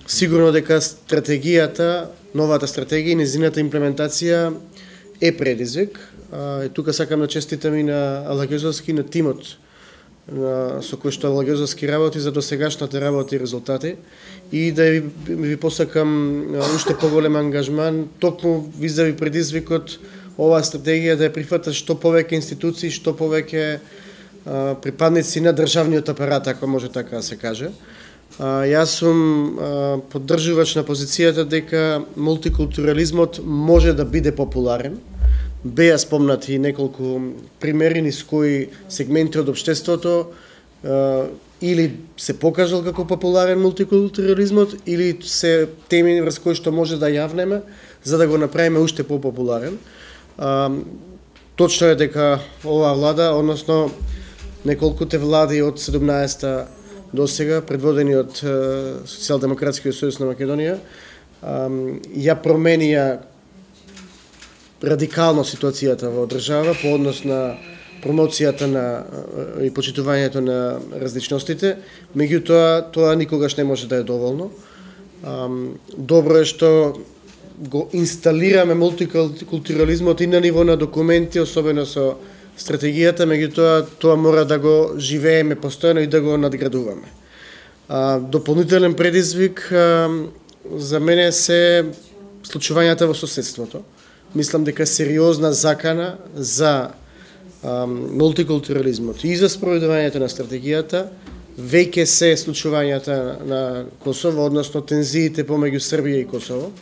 Сигурно дека стратегијата, новата стратегија и незината имплементација е предизвик. Тука сакам да честитам и на Алагјозовски, на тимот со кој што Алагјозовски работи за досегашната работа и резултати, и да ви посакам уште поголем ангажман токму визави предизвикот оваа стратегија да ја прифатат што повеќе институции, што повеќе припадници на државниот апарат, ако може така да се каже. Јас сум поддржувач на позицијата дека мултикултурализмот може да биде популарен. Беа спомнати неколку примери низ кои сегменти од општеството или се покажал како популарен мултикултурализмот, или се теми врз кои што може да јавнеме за да го направиме уште популарен. Точно е дека оваа влада, односно неколкуте влади од 17-та до сега, предводени од Социјалдемократскиот сојуз на Македонија, ја променија радикално ситуацијата во држава по однос на промоцијата на и почитувањето на различностите, меѓутоа тоа никогаш не може да е доволно. Добро е што го инсталираме мултикултурализмот и на ниво на документи, особено со стратегијата, меѓутоа тоа мора да го живееме постојано и да го надградуваме. Дополнителен предизвик за мене се случувањата во соседството. Мислам дека сериозна закана за мултикултурализмот и за спроведувањето на стратегијата веќе се случувањата на Косово, односно тензиите помеѓу Србија и Косово.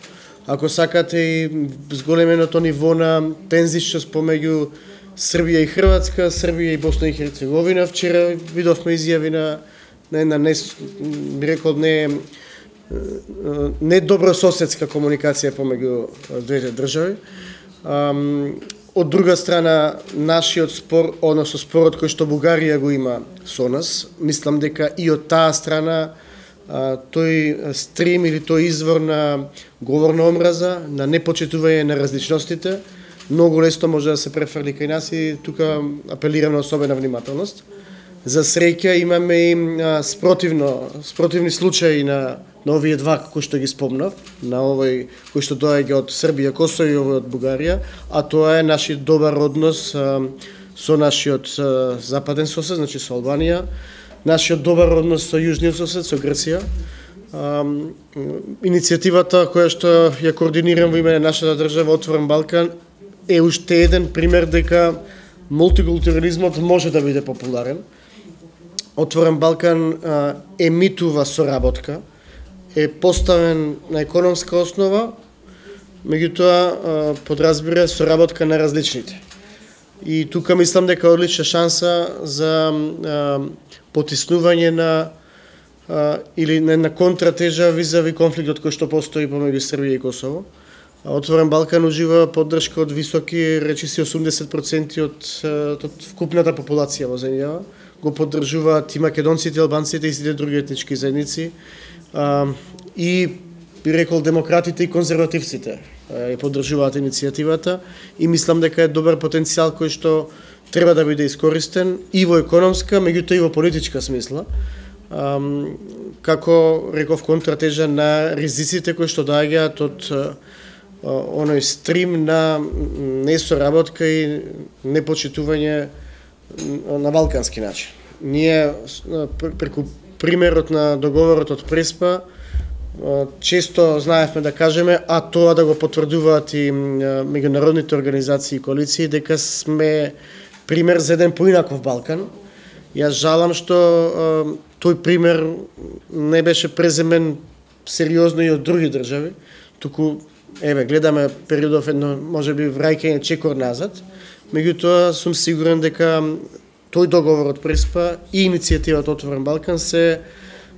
Ако сакате и зголеменото ниво на тензичност помеѓу Србија и Хрватска, Србија и Босна и Херцеговина, вчера видовме изјави на една би рекол не добрососедска комуникација помеѓу двете држави. Од друга страна, нашиот спор, односно спорот кој што Бугарија го има со нас, мислам дека и од таа страна тој стрим или тој извор на говорна омраза, на непочитување на различностите, многу лесно може да се префрли кај нас и тука апелирам на особена внимателност. За среќа имаме и спротивни случаи на овие два кои што ги спомнав, на овој кој што доаѓа од Србија, Косово и овој од Бугарија, а тоа е нашиот добар однос со нашиот западен сосед, значи со Албанија, нашиот добар однос со јужниот сосед, со Грција. Иницијативата која што ја координирам во име на нашата држава Отворен Балкан е уште еден пример дека мултикултурализмот може да биде популарен. Отворен Балкан емитува соработка, е поставен на економска основа, меѓутоа подразбира соработка на различните. И тука мислам дека е одлична шанса за потиснување на или на контратежа визави конфликтот кој што постои помеѓу Србија и Косово. Отворен Балкан ужива поддршка од високи, речиси 80% од вкупната популација во земјава. Го поддржуваат и македонците, албанците и сите други етнички заедници. И би рекол демократите и конзервативците ја поддржуваат иницијативата и мислам дека е добар потенцијал кој што треба да биде искористен и во економска, меѓутоа и во политичка смисла. Како реков контратежа на ризиците кои што доаѓаат од оној стрим на несоработка и непочитување на балкански начин. Ние преку примерот на договорот од Преспа често знаевме да кажеме, а тоа да го потврдуваат и меѓународните организации и коалиции, дека сме пример за еден поинаков Балкан. Јас жалам што тој пример не беше преземен сериозно и од други држави, туку гледаме периодов едно можеби враќање чекор назад, меѓутоа сум сигурен дека тој договор од Преспа и иницијативата Отворен Балкан се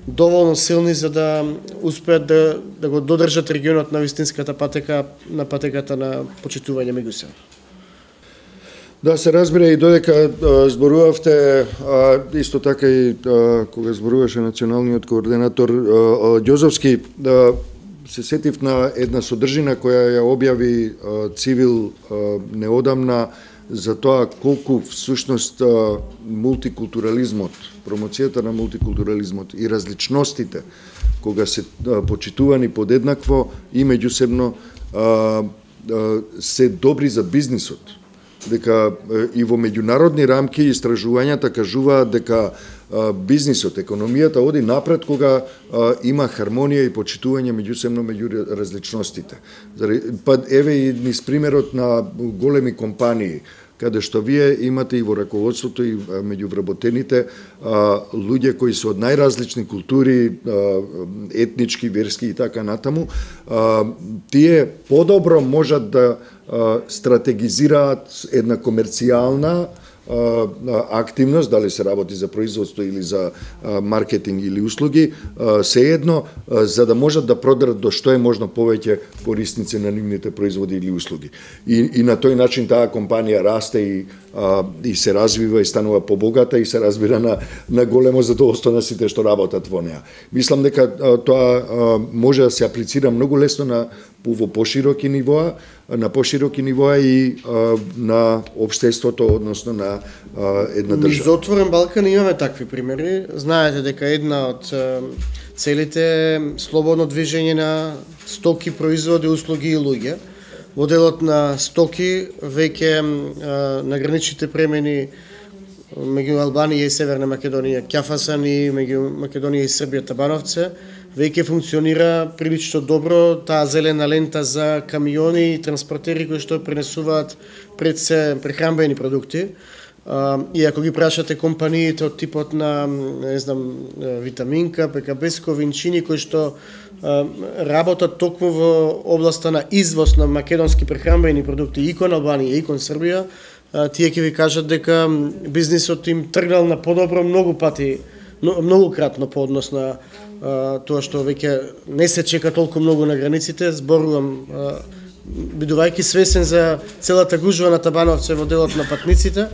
доволно силни за да успеат да го додржат регионот на вистинската патека, на патеката на почитување меѓу себе. Да, се разбира и додека зборувавте, исто така и кога зборуваше националниот координатор Ѓозовски, се сетив на една содржина која ја објави Цивил неодамна за тоа колку всушност мултикултурализмот, промоцијата на мултикултурализмот и различностите кога се почитувани подеднакво и меѓусебно се добри за бизнисот. Дека и во меѓународни рамки истражувањата кажуваат дека бизнисот, економијата оди напред кога има хармонија и почитување меѓусебно меѓу различностите. Па еве и низ примерот на големи компании, каде што вие имате и во раководството и меѓу вработените луѓе кои се од најразлични култури, етнички, верски и така натаму, тие подобро можат да стратегизираат една комерцијална активност, дали се работи за производство или за маркетинг или услуги, сеедно, за да можат да продадат до што е можно повеќе корисници на нивните производи или услуги. И на тој начин таа компанија расте и се развива и станува побогата и се разбира на големо задоволство на сите што работат во неа. Мислам дека тоа може да се аплицира многу лесно во пошироки нивоа, и на општеството, односно на една држава. Низ Отворен Балкан имаме такви примери. Знаете дека една од целите е слободно движење на стоки, производи, услуги и луѓе. Во делот на стоки веќе на граничните премени меѓу Албанија и Северна Македонија Ќафасан и меѓу Македонија и Србија Табановце веќе функционира прилично добро таа зелена лента за камиони и транспортери кои што пренесуваат пред се прехранбени продукти. И ако ги прашате компаниите од типот на, не знам, Витаминка, ПКБ-ско, Винчини, кои што работат токму во областа на извоз на македонски прехранбени продукти и кон Албанија и кон Србија, тие ќе ви кажат дека бизнисот им тргнал на подобро многу пати, многукратно по однос на тоа што веќе не се чека толку многу на границите. Зборувам, бидувајќи свесен за целата гужва на Табановце во делот на патниците,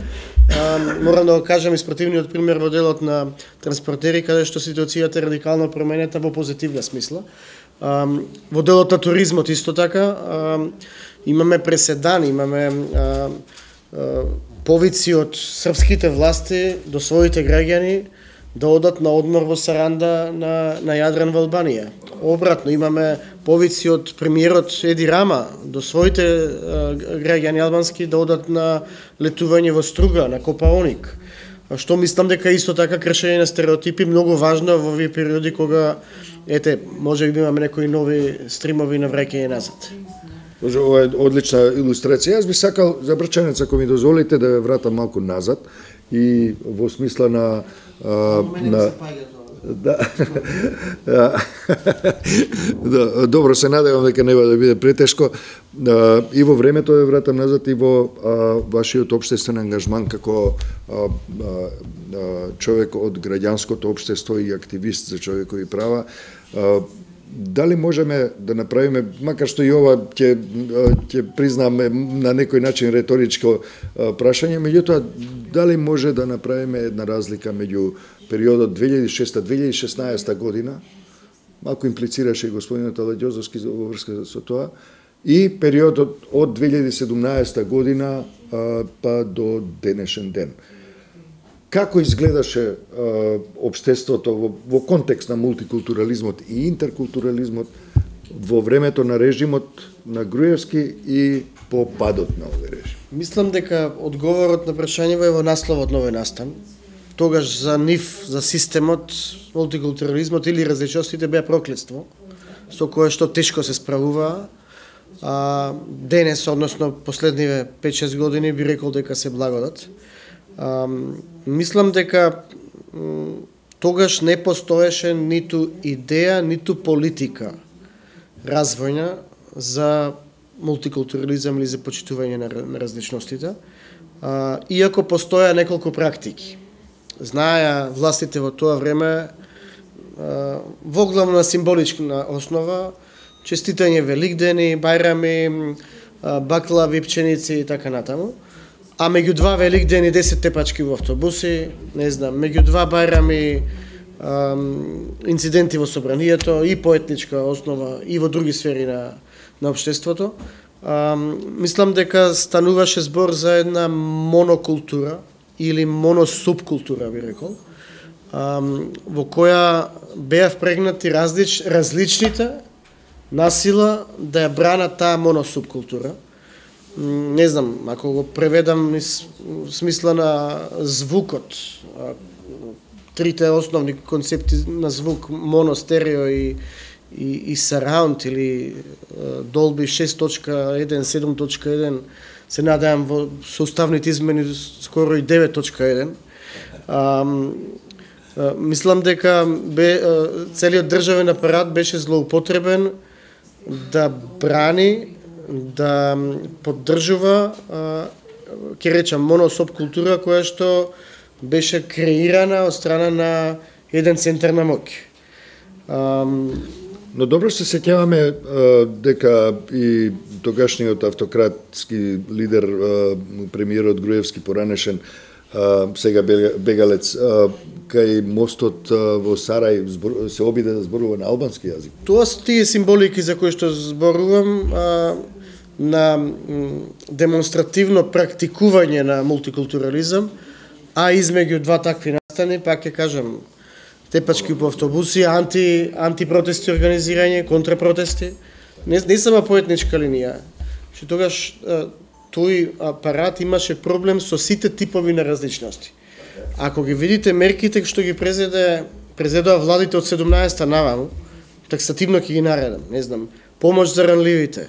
морам да го кажам испративниот пример во делот на транспортери, каде што ситуацијата е радикално променета во позитивна смисла. Во делот на туризмот исто така имаме преседан, имаме повици од српските власти до своите граѓани да одат на одмор во Саранда на Јадран во Албанија. Обратно, имаме повици од премиерот Еди Рама до своите граѓани албански да одат на летување во Струга, на Копаоник. Што мислам дека исто така кршење на стереотипи многу важно во овие периоди кога, може би имаме некои нови стримови на враќање назад. Ова е одлична илустрација. Јас би сакал за Брчанец, ако ми дозволите, да ве вратам малку назад и во смисла на добро, се надевам дека нема да биде претешко. И во времето ве вратам назад и во вашиот општествен ангажман како човек од граѓанското општество и активист за човекови права. Дали можеме да направиме, макар што и ова ќе признаме на некој начин реторичко прашање, меѓутоа дали може да направиме една разлика меѓу периодот 2006-2016 година, малку имплицираше и господинот Аладјозовски во врска со тоа, и периодот од 2017 година па до денешен ден. Како изгледаше општеството во контекст на мултикултурализмот и интеркултурализмот во времето на режимот на Груевски и по падот на овој режим? Мислам дека одговорот на прашањето е во насловот на овој настан. Тогаш за нив, за системот, мултикултурализмот или различностите беа проклетство, со кое што тешко се справува. Денес, односно последниве 5-6 години, би рекол дека се благодат. Мислам дека тогаш не постоеше ниту идеја, ниту политика развојна за мултикултурализам или за почитување на различностите, иако постоја неколку практики. Знаеа властите во тоа време во главно на символична основа честитање великдени, бајрами, баклави, пченици и така натаму. А меѓу два великдени 10 тепачки во автобуси, не знам, меѓу два бајрами инциденти во собранието и по етничка основа и во други сфери на општеството. Мислам дека стануваше збор за една монокултура или моносубкултура, би рекол, во која беа впрегнати различните насила да ја бранат таа моносубкултура. Не знам, ако го преведам низ смисла на звукот, трите основни концепти на звук, моно, стерео и surround или Dolby 6.1, 7.1, се надевам во составните измени скоро и 9.1. Мислам дека целиот државен апарат беше злоупотребен да брани, да поддржува, ќе речам, моносубкултура која што беше креирана од страна на еден центар на моќ. Но добро се сеќаваме дека и тогашниот автократски лидер, премиерот Груевски поранешен, сега бегалец, кај мостот во Сарај се обиде да зборува на албански јазик. Тоа се тие символики за кои што зборувам на демонстративно практикување на мултикултурализам, а измеѓу два такви настани, пак ќе кажам, тепачки по автобуси, антипротести организирање, контрапротести, не само по етничка линија. Што тогаш тој апарат имаше проблем со сите типови на различности. Ако ги видите мерките што ги презедоа владите од 17-та наваму, таксативно ќе ги наредам, не знам, помош за ранливите,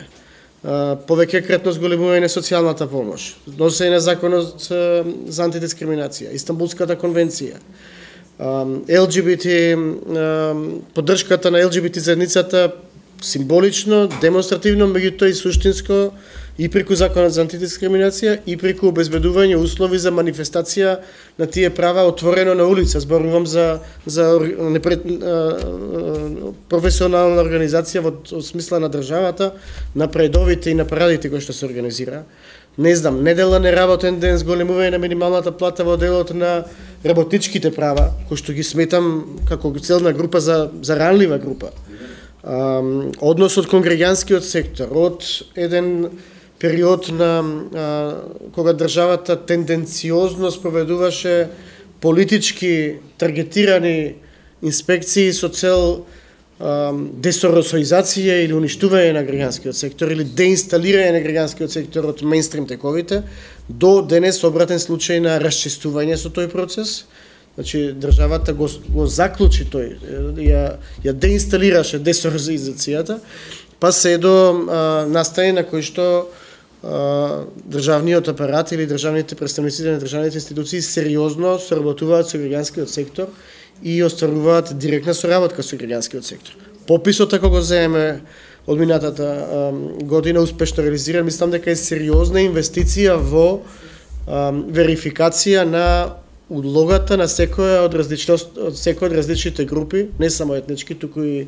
повеќе кратно зголемување на социјалната помош, носење на законот за антидискриминација, Истанбулската конвенција, ЛГБТ, поддршката на ЛГБТ заедницата символично, демонстративно, меѓутоа и суштинско, и преку законот за антидискриминација, и преку обезбедување услови за манифестација на тие права отворено на улица. Зборувам за професионална организација во смисла на државата, на предовите и на парадите кои што се организира. Не знам, неделна неработен ден, зголемување на минималната плата во делот на работничките права, кои што ги сметам како целна група за ранлива група. Односот кон граѓанскиот сектор, од еден период на кога државата тенденциозно спроведуваше политички таргетирани инспекции со цел десоросоизација или уништување на граѓанскиот сектор или деинсталирање на граѓанскиот сектор од мејнстрим тековите, до денес обратен случај на расчистување со тој процес. Значи, државата го заклучи тој, ја деинсталираше десорозизацијата, па се до настани на кој што државниот апарат или државните представници на државните институции сериозно соработуваат со граѓанскиот сектор и остваруваат директна соработка со граѓанскиот сектор. Пописот, ако го земеме од минатата година, успешно реализиран, мислам дека е сериозна инвестиција во верификација на улогата на секоја од различните групи, не само етнички, туку и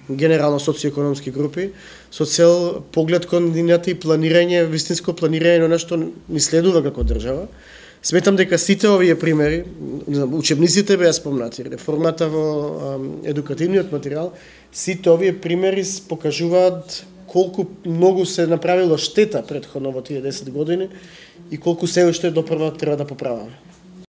генерално социоекономски групи, со цел поглед кон нивната и планирање, вистинско планирање на нешто ни следува како држава. Сметам дека сите овие примери, учебниците беа спомнати, реформата во едукативниот материјал, сите овие примери покажуваат колку многу се направило штета претходно во тие 10 години и колку се уште допрва треба да поправаме.